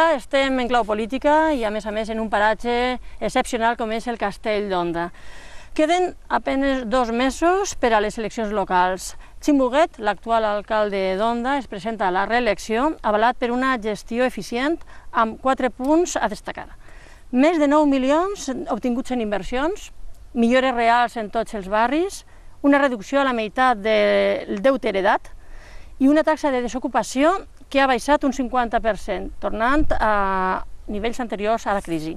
Ara estem en clau política i a més en un paratge excepcional com és el Castell d'Onda. Queden apenas 2 mesos per a les eleccions locals. Ximo Huguet, l'actual alcalde d'Onda, es presenta a la reelecció avalat per una gestió eficient amb 4 punts a destacar. Més de 9 milions obtinguts en inversions, millores reals en tots els barris, una reducció a la meitat del deute heredat i una taxa de desocupació que ha baixat un 50%, tornant a nivells anteriors a la crisi.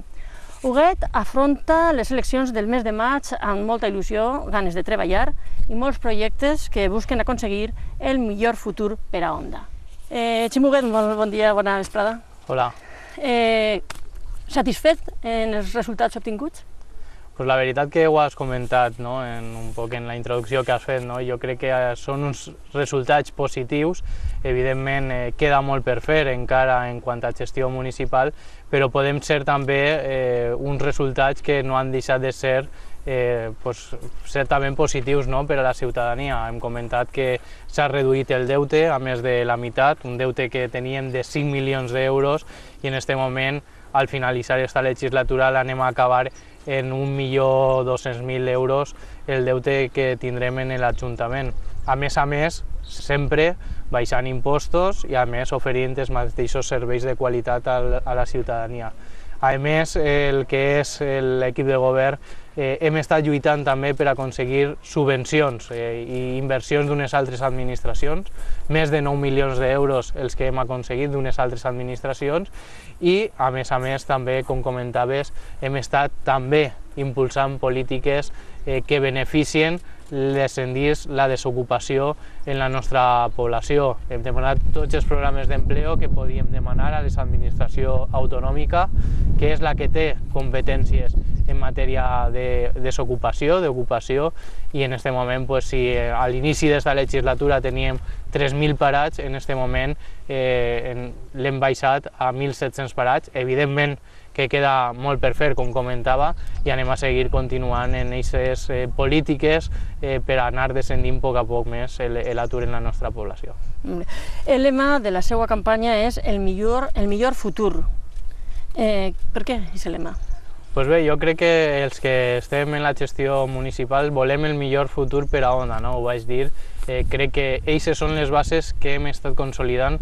Huguet afronta les eleccions del mes de maig amb molta il·lusió, ganes de treballar i molts projectes que busquen aconseguir el millor futur per a Onda. Ximo Huguet, bon dia, bona vesprada. Hola. Satisfet en els resultats obtinguts? Pues la veritat que ho has comentat, no? Un poc en la introducció que has fet, no? Jo crec que són uns resultats positius. Evidentment queda molt per fer encara en quant a gestió municipal, però podem ser també uns resultats que no han deixat de ser certament positius, no? Per a la ciutadania. Hem comentat que s'ha reduït el deute a més de la meitat, un deute que teníem de 5 milions d'euros i en aquest moment, al finalitzar aquesta legislatura, l'anem a acabar en 1.200.000 euros el deute que tindrem en l'Ajuntament. A més, sempre baixant impostos i a més oferint els mateixos serveis de qualitat a la ciutadania. A més, el que és l'equip de govern, hem estat lluitant també per aconseguir subvencions i inversions d'unes altres administracions, més de 9 milions d'euros els que hem aconseguit d'unes altres administracions i, a més, també, com comentaves, hem estat també impulsant polítiques que beneficien descendir la desocupació en la nostra població. Hem demanat tots els programes d'empleo que podíem demanar a l'administració autonòmica, que és la que té competències en matèria de desocupació, d'ocupació, i en aquest moment, si a l'inici d'esta legislatura teníem 3.000 parats, en aquest moment l'hem baixat a 1.700 parats. Evidentment que queda molt per fer, com comentava, i anem a seguir continuant en aquestes polítiques per anar descendint a poc més l'atur en la nostra població. El lema de la seva campanya és el millor futur. Per què és el lema? Doncs bé, jo crec que els que estem en la gestió municipal volem el millor futur per a Onda, no? Ho vaig dir. Crec que aquestes són les bases que hem estat consolidant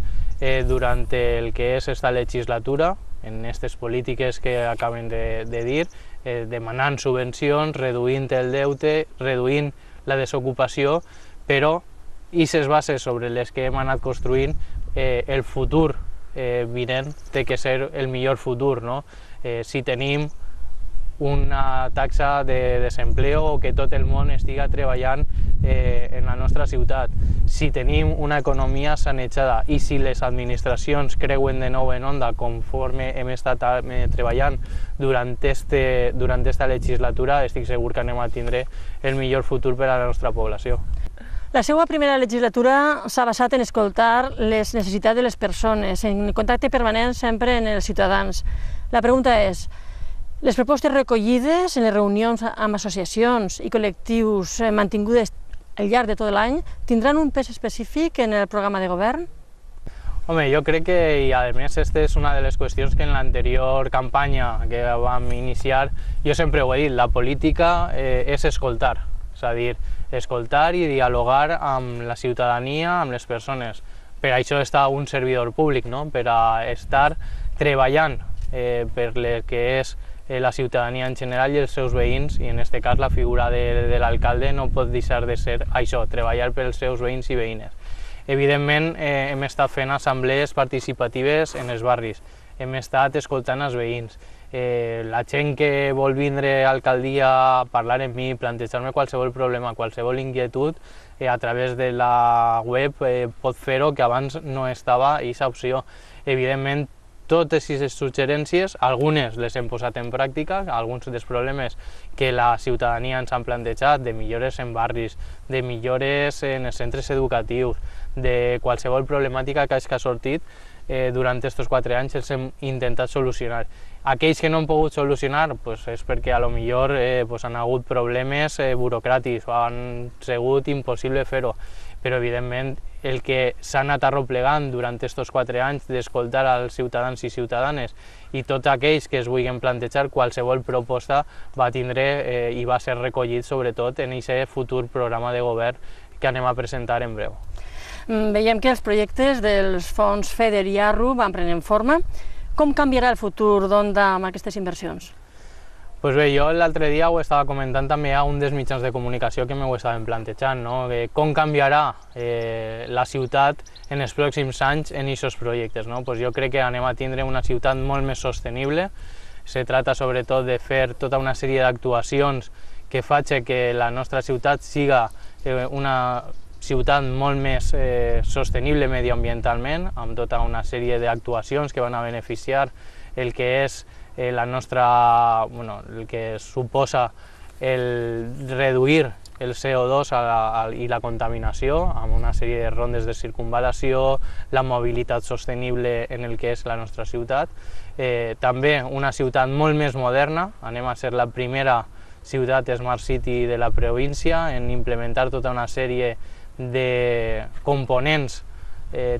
durant el que és esta legislatura, en aquestes polítiques que acaben de dir, demanant subvencions, reduint el deute, reduint la desocupació, però aquestes bases sobre les que hem anat construint, el futur vinent té que ser el millor futur, no? Si tenim una taxa de desempleo o que tot el món estiga treballant en la nostra ciutat, si tenim una economia sanejada i si les administracions creuen de nou en Onda conforme hem estat treballant durant esta legislatura, estic segur que anem a tindre el millor futur per a la nostra població. La seva primera legislatura s'ha basat en escoltar les necessitats de les persones, en contacte permanent sempre amb els ciutadans. La pregunta és, les propostes recollides en les reunions amb associacions i col·lectius mantingudes al llarg de tot l'any tindran un pes específic en el programa de govern? Home, jo crec que, i a més, aquesta és una de les qüestions que en l'anterior campanya que vam iniciar, jo sempre ho he dit, la política és escoltar, és a dir, escoltar i dialogar amb la ciutadania, amb les persones. Per això està un servidor públic, no? Per a estar treballant per el que és la ciutadania en general i els seus veïns, i en aquest cas la figura de l'alcalde no pot deixar de ser això, treballar per als seus veïns i veïnes. Evidentment, hem estat fent assemblees participatives en els barris, hem estat escoltant els veïns. La gent que vol vindre a l'alcaldia a parlar amb mi, plantejar-me qualsevol problema, qualsevol inquietud, a través de la web pot fer-ho, que abans no estava aquesta opció. Evidentment, totes aquestes suggerències, algunes les hem posat en pràctica, alguns dels problemes que la ciutadania ens han plantejat, de millores en barris, de millores en els centres educatius, de qualsevol problemàtica que ha sortit durant aquests 4 anys els hem intentat solucionar. Aquells que no han pogut solucionar és perquè potser han hagut problemes burocràtics o han sigut impossible fer-ho, però evidentment el que s'ha anat arroplegant durant aquests 4 anys d'escoltar als ciutadans i ciutadanes, i tots aquells que es vulguin plantejar qualsevol proposta va tindre i va ser recollit sobretot en aquest futur programa de govern que anem a presentar en breu. Veiem que els projectes dels fons FEDER i ARRU van prenent forma. Com canviarà el futur d'Onda amb aquestes inversions? Pues bé, jo l'altre dia ho estava comentant també a un dels mitjans de comunicació que m'ho estaven plantejant, no? Com canviarà la ciutat en els pròxims anys en aquests projectes, no? Pues jo crec que anem a tindre una ciutat molt més sostenible. Se trata sobretot de fer tota una sèrie d'actuacions que facin que la nostra ciutat siga una ciutat molt més sostenible medioambientalment, amb tota una sèrie d'actuacions que van a beneficiar el que és el que suposa el reduir el CO2 i la contaminació, amb una sèrie de rondes de circunvalació, la mobilitat sostenible en el que és la nostra ciutat. També una ciutat molt més moderna, anem a ser la primera ciutat Smart City de la província en implementar tota una sèrie de components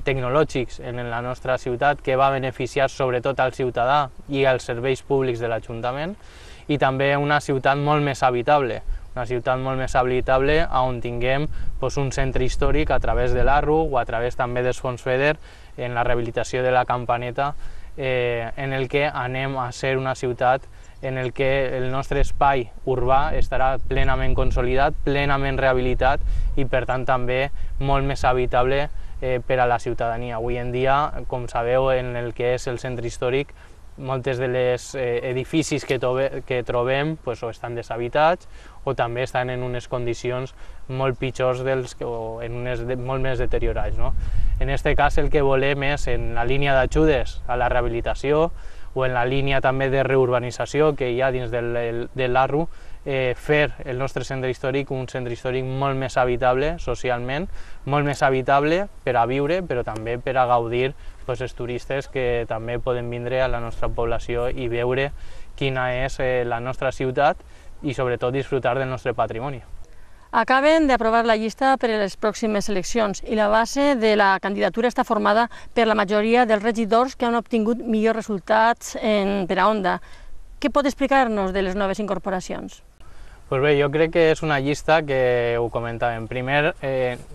tecnològics en la nostra ciutat que va beneficiar sobretot al ciutadà i als serveis públics de l'Ajuntament, i també una ciutat molt més habitable, on tinguem un centre històric a través de l'ARRU o a través també dels fons FEDER en la rehabilitació de la Campaneta, en el que anem a ser una ciutat en el que el nostre espai urbà estarà plenament consolidat, plenament rehabilitat i per tant també molt més habitable per a la ciutadania. Avui en dia, com sabeu, en el que és el centre històric, moltes de les edificis que trobem o estan deshabitats o també estan en unes condicions molt pitjors o en unes molt més deteriorats, no? En aquest cas el que volem és, en la línia d'ajudes a la rehabilitació o en la línia també de reurbanització que hi ha dins de l'ARRU, fer el nostre centre històric un centre històric molt més habitable socialment, molt més habitable per a viure, però també per a gaudir els turistes que també poden vindre a la nostra població i veure quina és la nostra ciutat i sobretot disfrutar del nostre patrimoni. Acaben d'aprovar la llista per a les pròximes eleccions i la base de la candidatura està formada per la majoria dels regidors que han obtingut millors resultats per a Onda. Què pot explicar-nos de les noves incorporacions? Pues bé, jo crec que és una llista que ho comentàvem. Primer,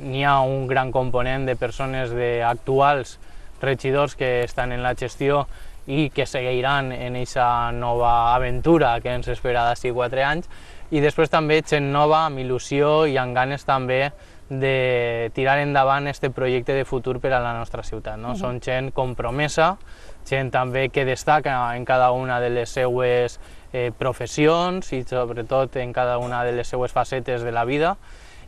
n'hi ha un gran component de persones actuals regidors que estan en la gestió i que seguiran en aquesta nova aventura que ens espera d'ací 4 anys, i després també gent nova amb il·lusió i amb ganes també de tirar endavant aquest projecte de futur per a la nostra ciutat. Són gent compromesa, gent també que destaca en cada una de les seues professions i sobretot en cada una de les seues facetes de la vida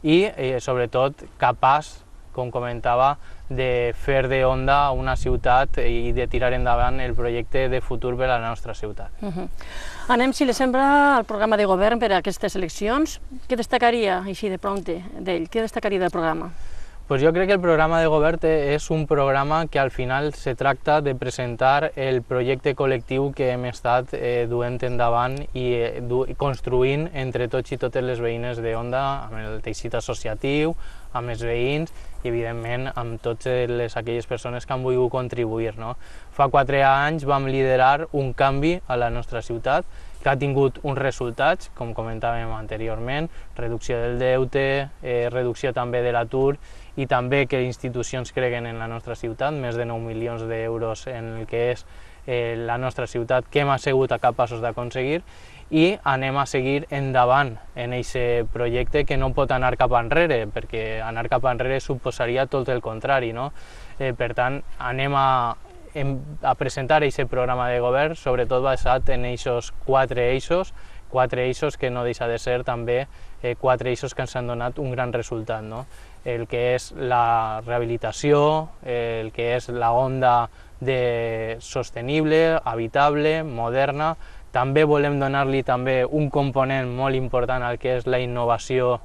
i sobretot capaç, com comentava, de fer de Onda una ciutat i de tirar endavant el projecte de futur per a la nostra ciutat. Anem, si li sembla, al programa de govern per a aquestes eleccions. Què destacaria, així de prompte, d'ell? Què destacaria del programa? Pues jo crec que el programa de govern és un programa que al final se tracta de presentar el projecte col·lectiu que hem estat duent endavant i construint entre tots i totes les veïnes d'Onda, amb el teixit associatiu, amb els veïns i, evidentment, amb totes aquelles persones que han volgut contribuir. Fa 4 anys vam liderar un canvi a la nostra ciutat que ha tingut uns resultats, com comentàvem anteriorment, reducció del deute, reducció també de l'atur i també que institucions creguen en la nostra ciutat, més de 9 milions d'euros en el que és la nostra ciutat que hem sigut capaços d'aconseguir, i anem a seguir endavant en aquest projecte que no pot anar cap enrere, perquè anar cap enrere suposaria tot el contrari. Per tant, anem a presentar aquest programa de govern, sobretot basat en aquests 4 eixos que no deixa de ser també 4 eixos que ens han donat un gran resultat. El que és la rehabilitació, el que és la Onda sostenible, habitable, moderna. També volem donar-li també un component molt important al que és la innovació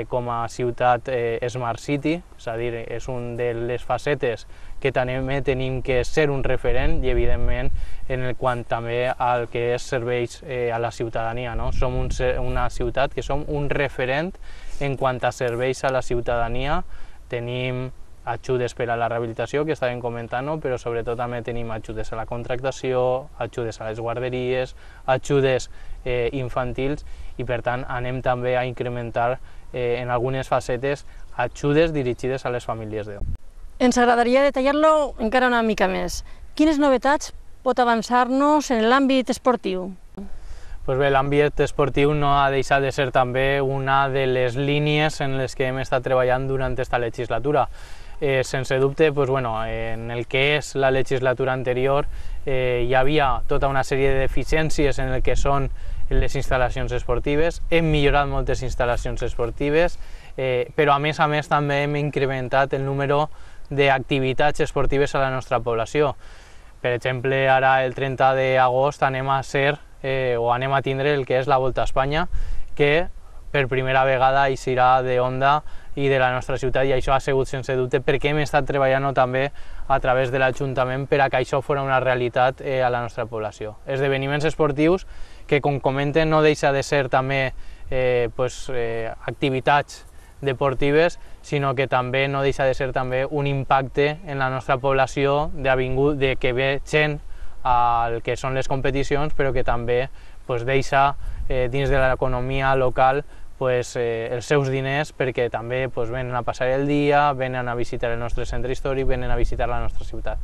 com a ciutat Smart City, és a dir, és una de les facetes que també tenim que ser un referent i, evidentment, en quant també al que és serveis a la ciutadania. Som una ciutat que som un referent en quant a serveis a la ciutadania. Tenim ajudes per a la rehabilitació, que estàvem comentant, però sobretot també tenim ajudes a la contractació, ajudes a les guarderies, ajudes infantils, i per tant anem també a incrementar en algunes facetes ajudes dirigides a les famílies de Onda. Ens agradaria detallar-lo encara una mica més. Quines novetats pot avançar-nos en l'àmbit esportiu? Pues bé, l'àmbit esportiu no ha deixat de ser també una de les línies en les que hem estat treballant durant aquesta legislatura. Sense dubte, pues bueno, en el que és la legislatura anterior hi havia tota una sèrie de deficiències en el que són les instal·lacions esportives. Hem millorat moltes instal·lacions esportives, però a més també hem incrementat el número d'activitats esportives a la nostra població. Per exemple, ara el 30 d'agost anem a tindre el que és la Volta a Espanya, que per primera vegada eixirà d'Onda i de la nostra ciutat, i això ha sigut sense dubte perquè hem estat treballant també a través de l'Ajuntament per a que això fos una realitat a la nostra població. Esdeveniments esportius que, com comenten, no deixa de ser també activitats deportives, sinó que també no deixa de ser també un impacte en la nostra població de que ve gent al que són les competicions, però que també deixa dins de l'economia local els seus diners, perquè també venen a passar el dia, venen a visitar el nostre centre històric, venen a visitar la nostra ciutat.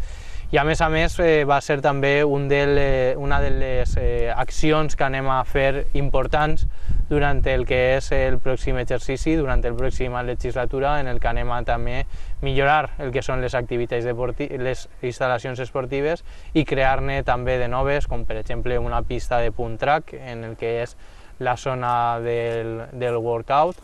I a més va ser també una de les accions que anem a fer importants durant el que és el pròxim exercici, durant la pròxima legislatura, en el que anem a també millorar el que són les activitats les instal·lacions esportives i crear-ne també de noves, com per exemple una pista de punt track en el que és la zona del workout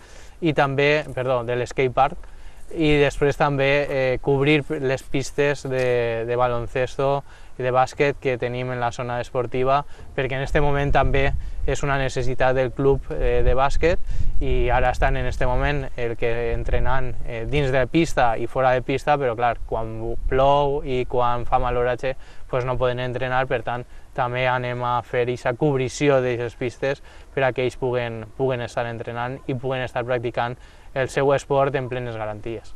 i també, de l'escatepark, i després també cobrir les pistes de baloncesto i de bàsquet que tenim en la zona esportiva, perquè en aquest moment també és una necessitat del club de bàsquet, i ara estan en aquest moment entrenant dins de pista i fora de pista, però clar, quan plou i quan fa mal oratge no poden entrenar. Per tant, també anem a fer aquesta cobrició d'aquestes pistes per a que ells puguen estar entrenant i puguen estar practicant el seu esport en plenes garanties.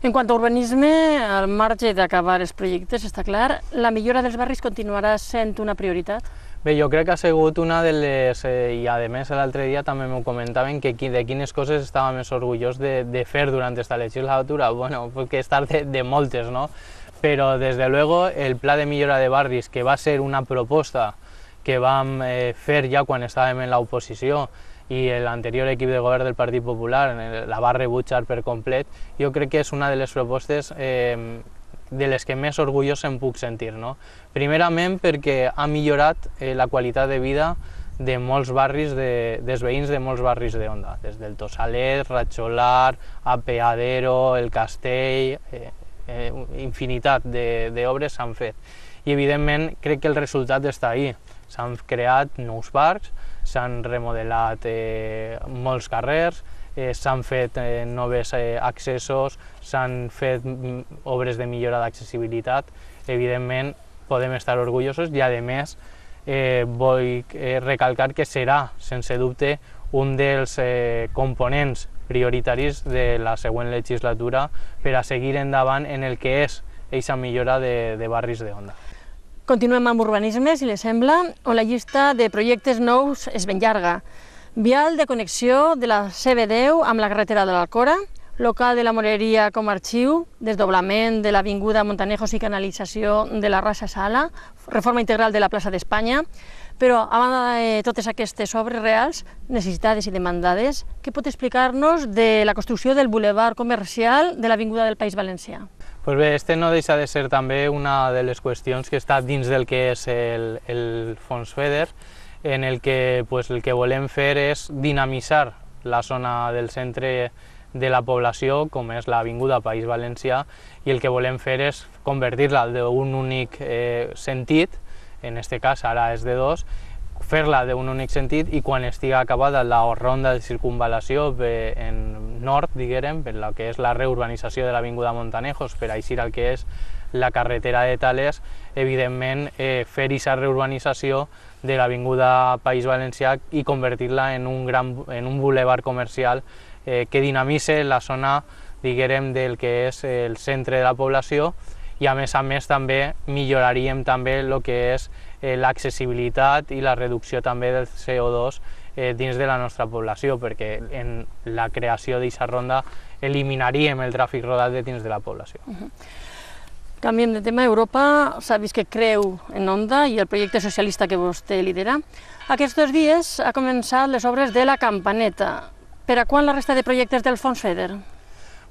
En quant a urbanisme, al marge d'acabar els projectes, està clar, la millora dels barris continuarà sent una prioritat? Bé, jo crec que ha sigut una de les, i a més l'altre dia també m'ho comentaven, que de quines coses estava més orgullós de fer durant aquesta legislatura. Bueno, que estar de moltes, no? Però, des de luego, el pla de millora de barris, que va ser una proposta que vam fer ja quan estàvem en l'oposició, i l'anterior equip de govern del Partit Popular la va rebutjar per complet, jo crec que és una de les propostes de les que més orgullós em puc sentir. Primerament perquè ha millorat la qualitat de vida de molts barris, dels veïns de molts barris d'Onda, des del Tossalet, Ratxolar, Apeadero, el Castell, infinitat d'obres s'han fet. I evidentment crec que el resultat està ahí. S'han creat nous parcs, s'han remodelat molts carrers, s'han fet nous accessos, s'han fet obres de millora d'accessibilitat. Evidentment podem estar orgullosos i, a més, vull recalcar que serà, sense dubte, un dels components prioritaris de la següent legislatura per a seguir endavant en el que és aquesta millora de barris d'Onda. Continuem amb urbanisme, si li sembla, on la llista de projectes nous és ben llarga. Vial de connexió de la CB10 amb la carretera de l'Alcora, local de la Moreria com a arxiu, desdoblament de l'avinguda Montanejos i canalització de la Rasa Sala, reforma integral de la plaça d'Espanya. Però, a banda de totes aquestes obres reals, necessitades i demandades, què pot explicar-nos de la construcció del bulevard comercial de l'avinguda del País Valencià? Pues bé, este no deixa de ser també una de les qüestions que està dins del que és el fons FEDER, en el que el que volem fer és dinamitzar la zona del centre de la població, com és l'avinguda País Valencià, i el que volem fer és convertir-la d'un únic sentit, en aquest cas ara és de dos, fer-la d'un únic sentit, i quan estigui acabada la ronda de circunvalació en nord, diguem, per la que és la reurbanització de l'avinguda Montanejos, per eixir al que és la carretera de Tales, evidentment fer aquesta reurbanització de l'avinguda País Valencià i convertir-la en un bulevard comercial que dinamitzi la zona diguem, del que és el centre de la població, i a més també milloraríem també el que és l'accessibilitat i la reducció també del CO2 dins de la nostra població, perquè en la creació d'aquesta ronda eliminaríem el tràfic rodat de dins de la població. Canviem de tema. Europa s'ha vist que creu en Onda i el projecte socialista que vostè lidera. Aquests 2 dies ha començat les obres de la Campaneta. Per a quan la resta de projectes del Fons FEDER?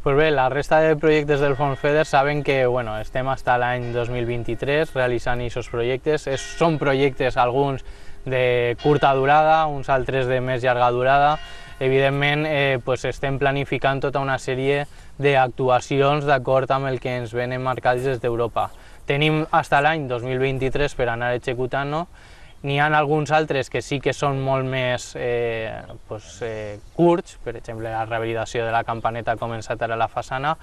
Pues bé, la resta de projectes del Fons FEDER saben que estem fins a l'any 2023 realitzant aquests projectes. Són projectes, alguns de curta durada, uns altres de més llarga durada. Evidentment, estem planificant tota una sèrie d'actuacions d'acord amb el que ens venen marcats des d'Europa. Tenim fins a l'any 2023 per anar executant-ho. N'hi ha alguns altres que sí que són molt més curts, per exemple la rehabilitació de la Campaneta ha començat ara a la façana,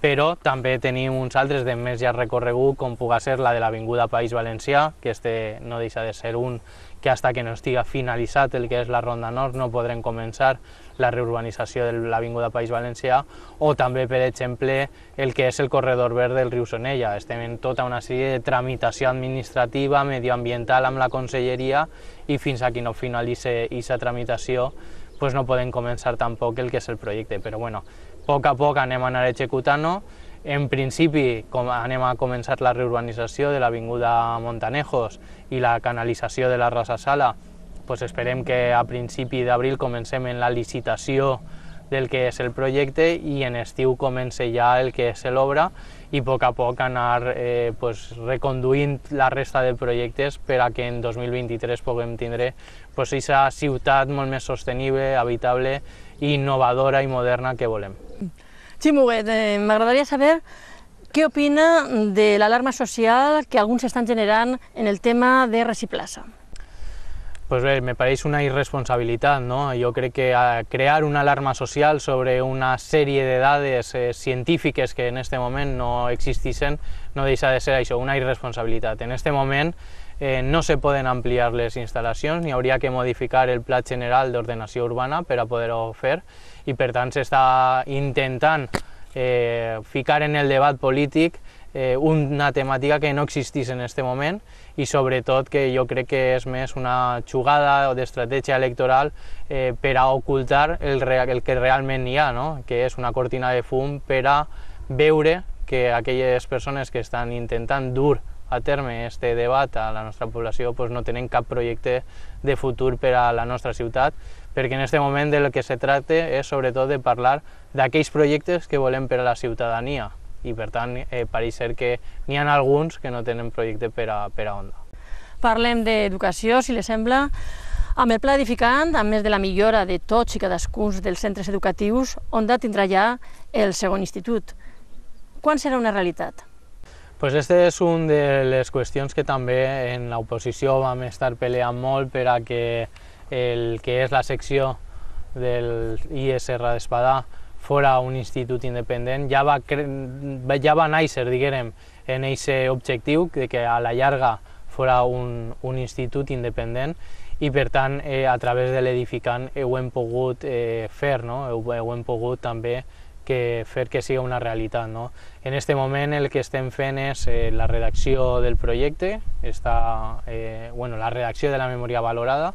però també tenim uns altres de més llarg recorregut, com pugui ser la de l'Avinguda País Valencià, que no deixa de ser un que fins que no estigui finalitzat el que és la Ronda Nord no podrem començar la reurbanització de l'Avinguda País Valencià, o també, per exemple, el que és el corredor verd del riu Sonella. Estem en tota una sèrie de tramitació administrativa, medioambiental amb la Conselleria, i fins que no finalitzi aquesta tramitació no podem començar tampoc el que és el projecte. Però a poc anem a anar executant-ho. En principi anem a començar la reurbanització de l'Avinguda Montanejos i la canalització de la Rasa Sala. Esperem que a principi d'abril comencem en la licitació del que és el projecte i en estiu comença ja el que és l'obra, i a poc anar reconduint la resta de projectes per a que en 2023 puguem tindre aquesta ciutat molt més sostenible, habitable, innovadora i moderna que volem. Ximo Huguet, m'agradaria saber què opina de l'alarma social que alguns estan generant en el tema de Resiplaça. Pues bé, me pareix una irresponsabilitat, no? Jo crec que crear una alarma social sobre una sèrie de dades científiques que en aquest moment no existeixen no deixa de ser això, una irresponsabilitat. En aquest moment no se poden ampliar les instal·lacions, ni hauria que modificar el Pla General d'Ordenació Urbana per a poder-ho fer, i per tant s'està intentant ficar en el debat polític una temàtica que no existeix en aquest moment, i sobretot que jo crec que és més una jugada d'estratègia electoral per a ocultar el que realment hi ha, que és una cortina de fum per a veure que aquelles persones que estan intentant dur a terme aquest debat a la nostra població no tenen cap projecte de futur per a la nostra ciutat, perquè en aquest moment del que se tracta és sobretot de parlar d'aquells projectes que volem per a la ciutadania, i per tant pareix ser que n'hi ha alguns que no tenen projecte per a Onda. Parlem d'educació, si li sembla. Amb el pla edificant, a més de la millora de tots i cadascun dels centres educatius, Onda tindrà ja el segon institut. Quan serà una realitat? Aquesta és una de les qüestions que també en l'oposició vam estar peleant molt per a que el que és la secció del ISR d'Espadà fora un institut independent. Ja va néixer, diguem, en aquest objectiu, que a la llarga fora un institut independent, i per tant a través de l'edificant ho hem pogut fer, ho hem pogut també fer que sigui una realitat. En aquest moment el que estem fent és la redacció del projecte, la redacció de la memòria valorada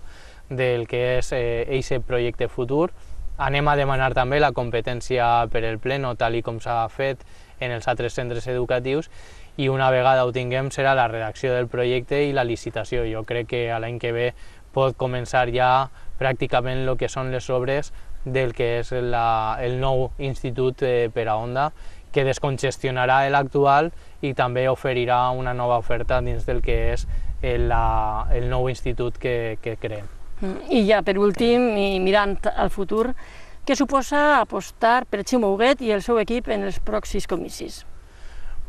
del que és aquest projecte futur. Anem a demanar també la competència per el Pleno, tal com s'ha fet en els altres centres educatius, i una vegada ho tinguem serà la redacció del projecte i la licitació. Jo crec que l'any que ve pot començar ja pràcticament el que són les obres del que és el nou institut per a Onda, que descongestionarà l'actual i també oferirà una nova oferta dins del que és el nou institut que creem. I ja, per últim, i mirant al futur, què suposa apostar per Ximo Huguet i el seu equip en els pròxims comicis?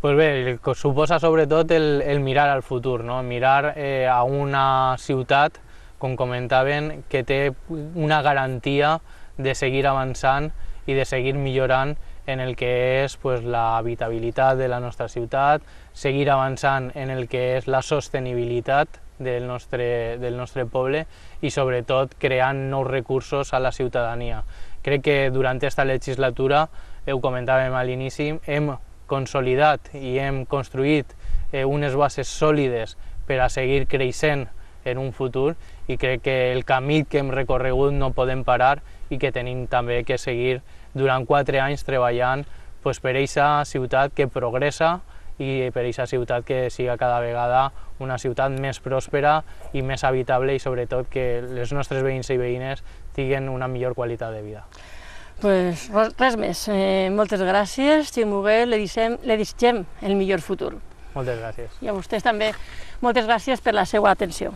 Pues bé, suposa sobretot el mirar al futur, mirar a una ciutat, com comentaven, que té una garantia de seguir avançant i de seguir millorant en el que és l'habitabilitat de la nostra ciutat, seguir avançant en el que és la sostenibilitat del nostre poble i sobretot creant nous recursos a la ciutadania, Crec que durant aquesta legislatura, ho comentàvem a l'inici, hem consolidat i hem construït unes bases sòlides per a seguir creixent en un futur, i crec que el camí que hem recorregut no podem parar i que tenim també que seguir durant 4 anys treballant per aquesta ciutat que progressa i per aquesta ciutat que siga cada vegada una ciutat més pròspera i més habitable, i sobretot que els nostres veïns i veïnes tinguin una millor qualitat de vida. Pues res més. Moltes gràcies, Ximo Huguet, li desitgem el millor futur. Moltes gràcies. I a vostès també, moltes gràcies per la seva atenció.